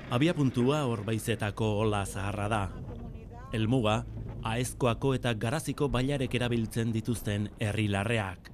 Abiapuntua Orbaizetako ola zaharra da. Helmuga, Aezkoako eta Garaziko bailarek erabiltzen dituzten herri-larreak.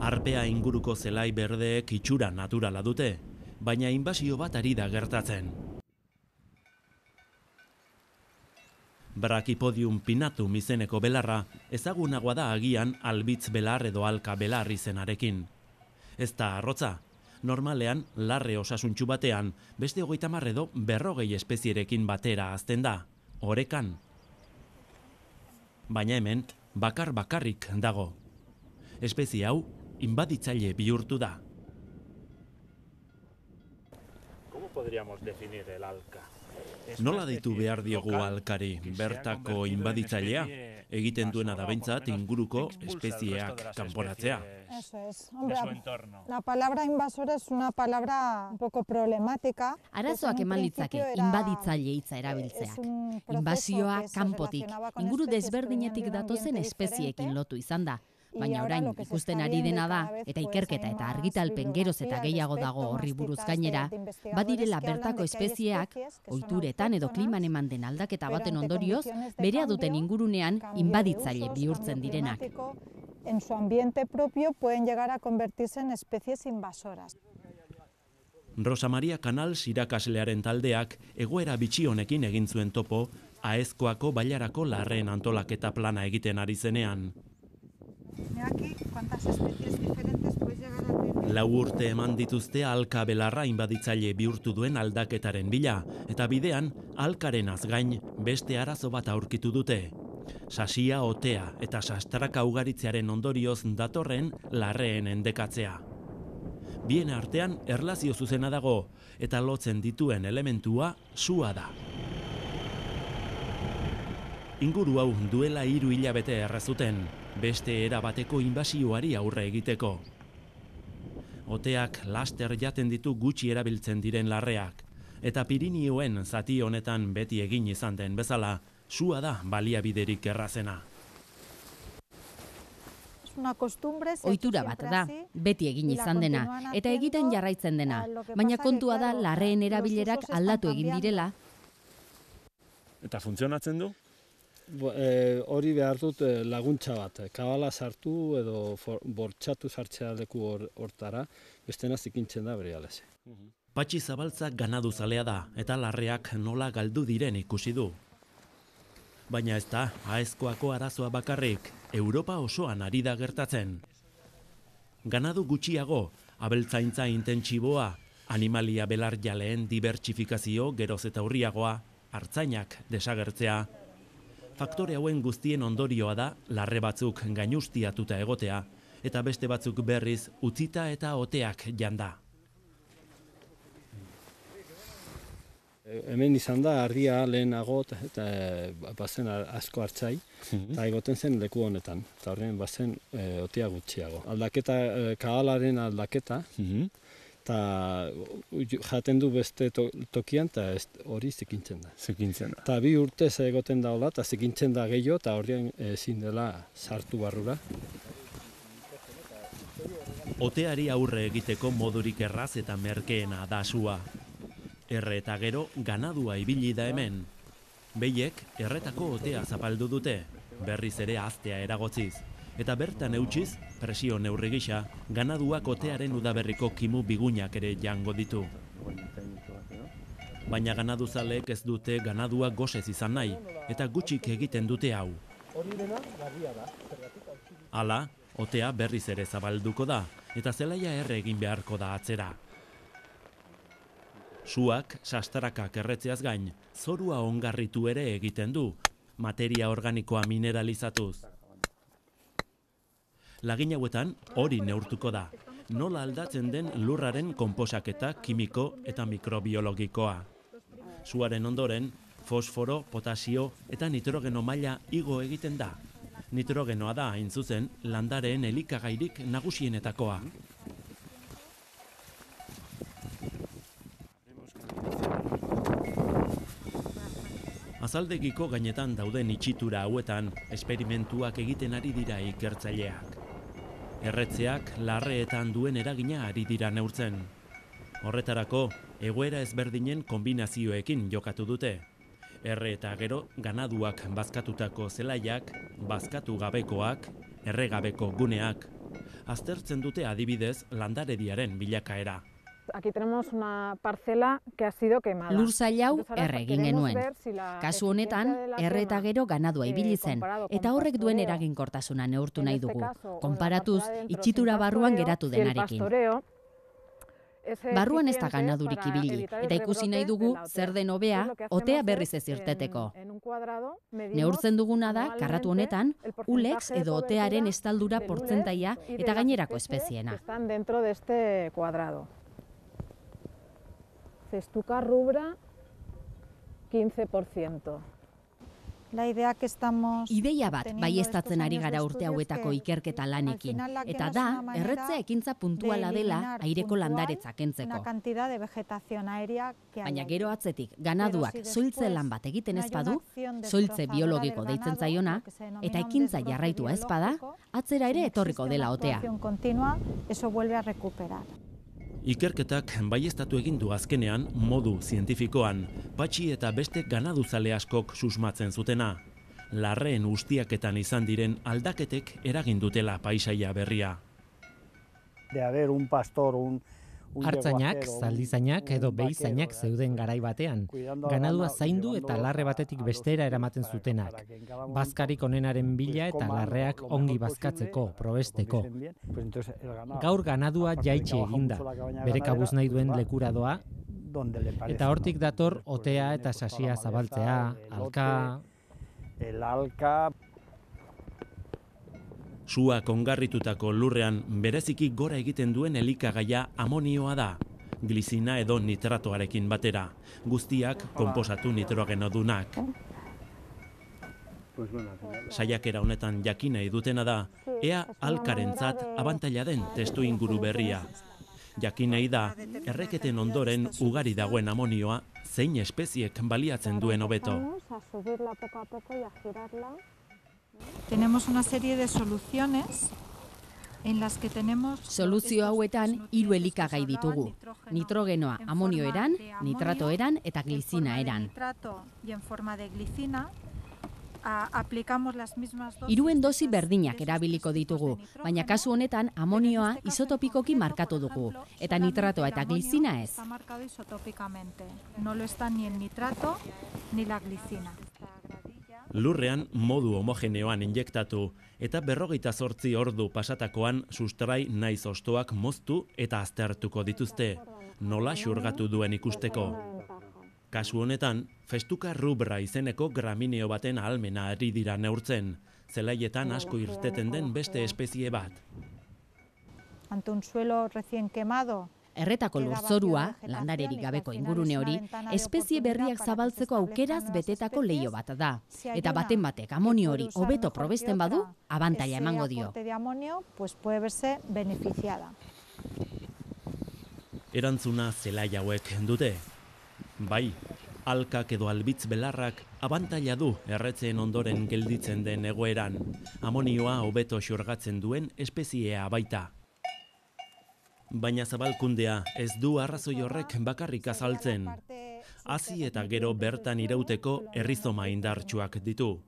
Arpea inguruko zelai berdeek itxura naturala dute, baina inbasio bat ari da gertatzen. Brachipodium pinnatum izeneko belarra ezagunagoa da agian albitz belar edo alka belar izenarekin. Ez da arrotza, normalean larre osasuntsu batean beste 30 edo 40 espezierekin batera hazten da, orekan. Baina hemen bakarrik dago. Espezie hau inbaditzaile bihurtu da. ¿Cómo podríamos definir el alca? Nola deitu behar diogu alkari, bertako inbaditzailea? Egiten duena da behintzat inguruko espezieak kanporatzea. Eso es. Hombre, la palabra invasora es una palabra un poco problemática. Arazoak eman litzake inbaditzaile hitza erabiltzeak. Inbasioa kanpotik, inguru desberdinetik datozen espezieekin lotu izan da. Baina orain ikusten ari dena da, eta ikerketa eta argitalpen geroz eta gehiago dago horri buruz gainera, badirela bertako espezieak, ohituretan edo kliman eman den aldaketa baten ondorioz, berea duten ingurunean inbaditzaile bihurtzen direnak. En su ambiente propio pueden llegar a convertirse en especies invasoras. Rosa Maria Canals irakaslearen taldeak egoera bitxi honekin egin zuen topo Aezkoako bailarako larreen antolaketa plana egiten ari zenean. Lau urte eman dituzte alka belarra inbaditzaile bihurtu duen aldaketaren bila, eta bidean alkaren azgain beste arazo bat aurkitu dute. Sasia, otea eta sastraka ugaritzearen ondorioz datorren larreen endekatzea. Bien artean erlazio zuzena dago, eta lotzen dituen elementua sua da. Inguru hau duela 3 hilabete errazuten, beste erabateko inbasioari aurre egiteko. Oteak laster jaten ditu gutxi erabiltzen diren larreak, eta Pirinioen zati honetan beti egin izan den bezala, sua da baliabiderik errazena. Ohitura bat da, beti egin izan dena, eta egiten jarraitzen dena, baina kontua da larreen erabilerak aldatu egin direla. Eta funtzionatzen du? Hori behar dut laguntza bat, kabala sartu edo bortxatu sartzea leku hortara, bestena zikintzen da bere alese. Patxi Zabaltza ganaduzalea da, eta larreak nola galdu diren ikusi du. Baina ez da, Aezkoako arazoa bakarrik, Europa osoan ari da gertatzen. Ganadu gutxiago, abeltzaintza intentsiboa, animalia belarjaleen dibertsifikazio geroz eta urriagoa, artzainak desagertzea. Faktore hauen guztien ondorioa da larre batzuk gainustiatuta egotea, eta beste batzuk berriz utzita eta oteak janda. Hemen izan da argia lehenago eta bazen asko hartzai, eta egoten zen leku honetan, eta horren bazen otea gutxiago. Aldaketa, kabalaren aldaketa, eta jaten du beste tokian, eta hori zikintzen da. Eta 2 urte egoten da hola, eta zikintzen da gehiago, eta horrean ezin dela sartu barrura. Oteari aurre egiteko modurik erraz eta merkeena da sua. Erre eta gero ganadua ibili da hemen. Behiek erretako otea zapaldu dute, berriz ere haztea eragotziz. Eta bertan eutxiz, presio neurri gisa, ganaduak otearen udaberriko kimu bigunak ere jango ditu. Baina ganaduzaleek ez dute ganadua gosez izan nahi, eta gutxik egiten dute hau. Hala, otea berriz ere zabalduko da, eta zelaia erre egin beharko da atzera. Suak, sastrakak erretzeaz gain, zorua ongarritu ere egiten du, materia organikoa mineralizatuz. Lagin hauetan hori neurtuko da, nola aldatzen den lurraren konposaketa kimiko eta mikrobiologikoa. Suaren ondoren, fosforo, potasio eta nitrogeno maila igo egiten da. Nitrogenoa da, hain zuzen, landareen elikagairik nagusienetakoa. Bazaldegiko gainetan dauden itxitura hauetan esperimentuak egiten ari dira ikertzaileak. Erretzeak larreetan duen eragina ari dira neurtzen. Horretarako, egoera ezberdinen kombinazioekin jokatu dute. Erre eta gero ganaduak bazkatutako zelaiak, bazkatu gabekoak, erregabeko guneak. Aztertzen dute adibidez landarediaren bilakaera. Aquí tenemos una parcela que ha sido quemada. Lur zail hau erre egin genuen. Kasu honetan, erre eta gero ganadua ibili zen, eta horrek duen eraginkortasuna neurtu nahi dugu, konparatuz itxitura barruan geratu denarekin. Barruan ez da ganadurik ibili, eta ikusi nahi dugu zer den hobea otea berriz ez irteteko. Neurtzen duguna da, karratu honetan, ulex edo otearen estaldura portzentaia eta gainerako espeziena. Están dentro de este cuadrado. Cestuca rubra, 15%. La idea que estamos... Ideia bat baieztatzen ari gara urte hauetako ikerketa lanekin, eta da, erretzea ekintza puntuala dela aireko landaretza kentzeko. Baina gero atzetik, ganaduak soiltze lan bat egiten ez badu, soiltze biologiko deitzen zaiona, eta ekintza jarraitua ez bada, atzera ere etorriko dela otea. Ikerketak baieztatu egin du azkenean modu zientifikoan, patxi eta beste ganaduzale askok susmatzen zutena. Larreen ustiaketan izan diren aldaketek eragin dutela paisaia berria. De haber un pastor, Artzainak, zaldizainak edo behizainak zeuden garai batean, ganadua zaindu eta larre batetik bestera eramaten zutenak. Bazkarik onenaren bila eta larreak ongi bazkatzeko, probesteko. Gaur ganadua jaitsi eginda, bere kabuz nahi duen lekura doa, eta hortik dator otea eta sasia zabaltzea, alka... Suak ongarritutako lurrean bereziki gora egiten duen elikagaia amonioa da, glizina edo nitratoarekin batera, guztiak konposatu nitrogenodunak. Saiakera honetan jakin nahi dutena da, ea alkarentzat abantaila den testu inguru berria. Jakin nahi da, erreketen ondoren ugari dagoen amonioa zein espeziek baliatzen duen hobeto. Tenemos una serie de soluciones en las que tenemos... Soluzio hauetan 3 elikagai ditugu. Nitrogenoa amonio eran, nitrato eran eta glizina eran. Hiruen dosi berdinak erabiliko ditugu, baina kasu honetan amonioa isotopikoki markatu dugu, eta nitratoa eta glizina ez. No lo está ni el nitrato ni la glizina. Lurrean modu homogeneoan injektatu eta 48 ordu pasatakoan sustrai naiz hostoak moztu eta aztertuko dituzte, nola xurgatu duen ikusteko. Kasu honetan, Festuca rubra izeneko gramineo baten ahalmena ari dira neurtzen, zelaietan asko irteten den beste espezie bat. Ante un suelo recién quemado, Erretako lurzorua, landarerik gabeko ingurune hori, espezie berriak zabaltzeko aukeraz betetako leio bat da. Eta baten batek amonio hori hobeto probesten badu, abantaila emango dio. Erantzuna zelai hauek dute. Bai, alkak edo albitz belarrak abantaila du erretzeen ondoren gelditzen den egoeran. Amonioa hobeto xurgatzen duen espeziea baita. Baina zabalkundea ez du arrazoi horrek bakarrik azaltzen. Hazi eta gero bertan irauteko errizoma indartsuak ditu.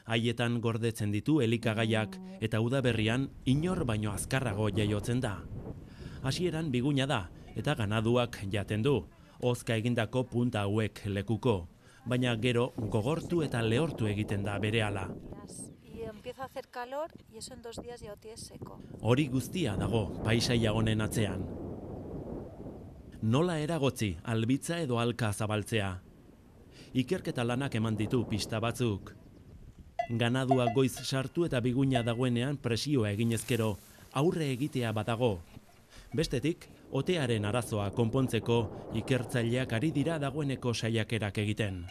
Haietan gordetzen ditu elikagaiak eta udaberrian inor baino azkarrago jaiotzen da. Hasieran biguna da eta ganaduak jaten du, hozka egindako punta hauek lekuko. Baina gero gogortu eta lehortu egiten da berehala. Empieza a hacer calor y eso en 2 días ya lo tienes seco. Hori guztia dago paisaia honen atzean. Nola eragotzi albitza edo alka zabaltzea? Ikerketa lanak eman ditu pista batzuk. Ganadua goiz sartu eta biguna dagoenean presioa eginezkero aurre egitea badago. Bestetik, otearen arazoa konpontzeko ikertzaileak ari dira dagoeneko saiakerak egiten.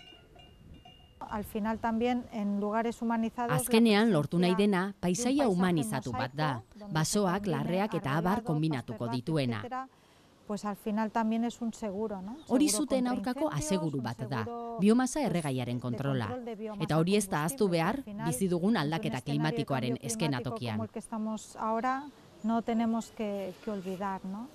Al final también en lugares humanizados... Azkenean lortu nahi dena paisaia humanizatu bat da, basoak, larreak eta abar kombinatuko dituena. pues al final también es un seguro, ¿no? Hori zuten aurkako aseguru bat da, biomasa erregaiaren kontrola. Eta hori ez da ahaztu behar, bizi dugun aldaketa klimatikoaren eskenatokian. Como el que estamos ahora, no tenemos que olvidar, ¿no?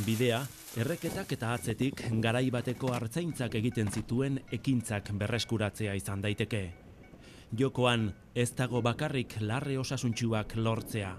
Bidea, erreketak eta atzetik garai bateko artzaintzak egiten zituen ekintzak berreskuratzea izan daiteke. Jokoan ez dago bakarrik larre osasuntsuak lortzea.